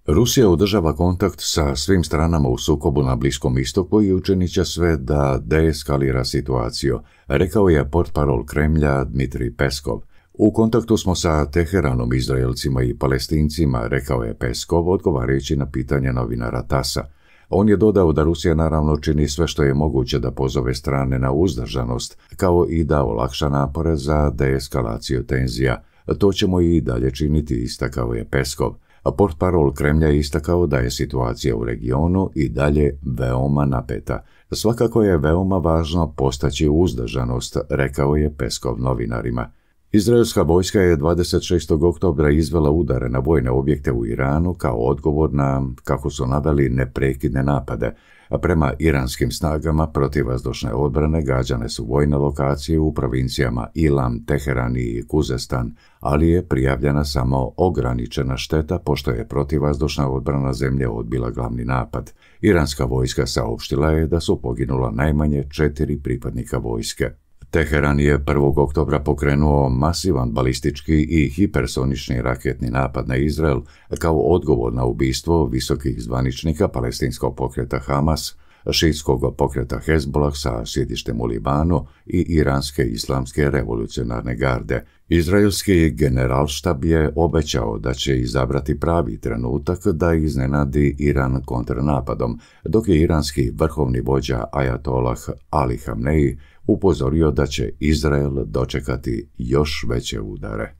Rusija održava kontakt sa svim stranama u sukobu na Bliskom istoku i učinit će sve da deeskalira situaciju, rekao je portparol Kremlja Dmitrij Peskov. U kontaktu smo sa Teheranom, Izraelcima i Palestincima, rekao je Peskov, odgovarajući na pitanje novinara TASS-a. On je dodao da Rusija naravno čini sve što je moguće da pozove strane na uzdržanost, kao i da olakša napore za deeskalaciju tenzija. To ćemo i dalje činiti, istakao je Peskov. A portparol Kremlja je istakao da je situacija u regionu i dalje veoma napeta. Svakako je veoma važno postaći uzdržanost, rekao je Peskov novinarima. Izraelska vojska je 26. oktobra izvela udare na vojne objekte u Iranu kao odgovor na, kako su naveli, neprekidne napade, a prema iranskim snagama protivvazdušne odbrane gađane su vojne lokacije u provincijama Ilam, Teheran i Kuzestan, ali je prijavljena samo ograničena šteta pošto je protivvazdušna odbrana zemlje odbila glavni napad. Iranska vojska saopštila je da su poginula najmanje 4 pripadnika vojske. Teheran je 1. oktobra pokrenuo masivan balistički i hipersonični raketni napad na Izrael kao odgovor na ubistvo visokih zvaničnika palestinskog pokreta Hamas, šiitskog pokreta Hezbollah sa sjedištem u Libanu i iranske islamske revolucionarne garde. Izraelski generalštab je obećao da će izabrati pravi trenutak da iznenadi Iran kontrnapadom, dok je iranski vrhovni vođa Ajatollah Ali Hamneji upozorio da će Izrael dočekati još veće udare.